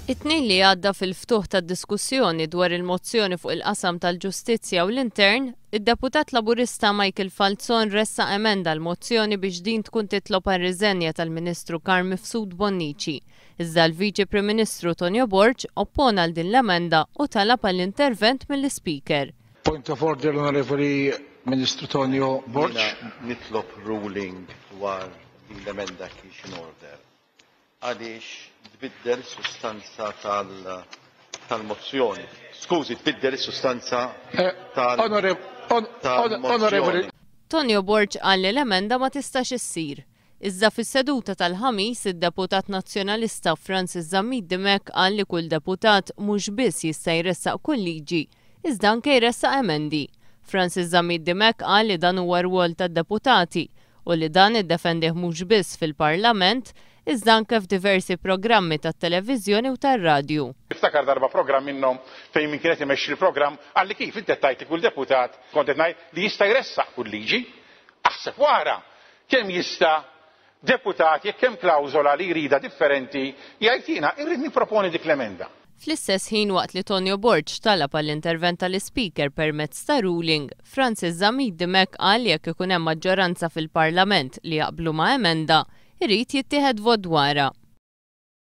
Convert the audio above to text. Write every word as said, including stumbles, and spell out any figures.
It-Tnejn li għadda, fil-ftuħ tad-diskussjoni dwar il-mozzjoni fuq il-qasam tal-ġustizzja u l-intern, id-deputat Laburista Michael Falzon ressaq emenda l-mozzjoni biex din tkun titlob għar-riżenja tal-Ministru Carm Mifsud Bonnici. Iżda l-Viċi Prim Ministru Tonio Borg oppona għal din l-emenda u talab għall-intervent mill-Speaker. Point of order, l-Onorevoli Ministru Tonio Borg. Nitlob ruling dwar din l-emenda kif in order. Għaliex tbiddel sustanza tal-mozzjoni. Skużi, tbiddel is-sustanza eh, tal-mozzjoni. Tonio Borg qal li l-emenda ma tistax issir. Iżda fis-seduta tal-Ħamis, id-deputat nazzjonalista Francis Zammit Dimech qal li kull deputat mhux biss jista' jressaq kull liġi, iżda anke jressaq emendi. Francis Zammit Dimech qal li dan huwa rwol tad-deputati u li dan iddefendih mhux biss fil-Parlament, iżda anke f'diversi programmi tat-televiżjoni u tar-radju. Niftakar darba programm minnhom fejn min kienet imexxi l-programm qalli, "Kif inti tajt kull deputat?" Kont qed ngħid li jista' jressaq kull liġi. Aħseb wara kemm jista' deputat, jekk hemm klawżola li jrida differenti, jgħid, "Jiena irrid nipproponi dik l-emenda." Fl-istess ħin, waqt li Tonio Borg talab għall-intervent tal-Speaker permezz ta' ruling, Francis Zammit Dimech qal jekk ikun hemm maġġoranza fil-Parlament li jaqblu ma' emenda, irid jittieħed vot dwarha.